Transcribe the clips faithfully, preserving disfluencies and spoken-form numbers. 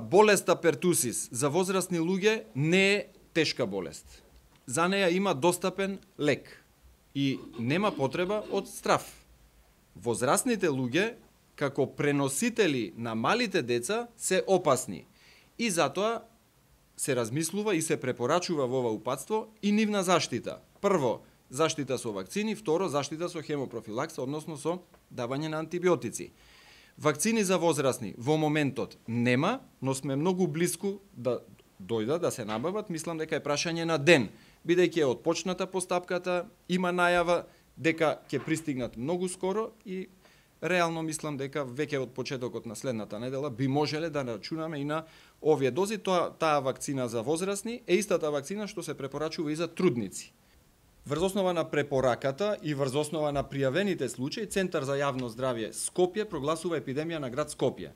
Болеста пертусис за возрастни луѓе не е тешка болест. За неја има достапен лек и нема потреба од страф. Возрастните луѓе, како преносители на малите деца, се опасни и затоа се размислува и се препорачува во ова упатство и нивна заштита. Прво, заштита со вакцини, второ, заштита со хемопрофилакса, односно со давање на антибиотици. Вакцини за возрастни во моментот нема, но сме многу близку да дојдат, да се набават. Мислам дека е прашање на ден, бидејќи е отпочната постапката, има најава дека ќе пристигнат многу скоро и реално мислам дека веќе од почетокот на следната недела би можеле да рачунаме и на овие дози. Тоа, таа вакцина за возрастни е истата вакцина што се препорачува и за трудници. Врз основа на препораката и врз основа на пријавените случаи, Центар за јавно здравје Скопје прогласува епидемија на град Скопје.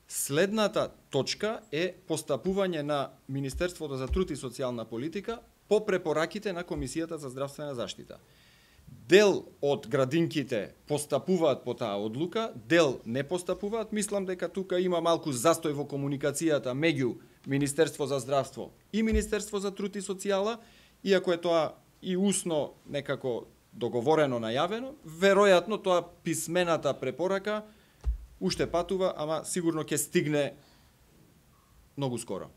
Следната точка е постапување на Министерството за труд и социјална политика по препораките на Комисијата за здравствена заштита. Дел од градинките постапуваат по таа одлука, дел не постапуваат. Мислам дека тука има малку застој во комуникацијата меѓу Министерство за здравство и Министерство за труд и социјала, иако е тоа и усно некако договорено најавено, веројатно тоа писмената препорака уште патува, ама сигурно ќе стигне многу скоро.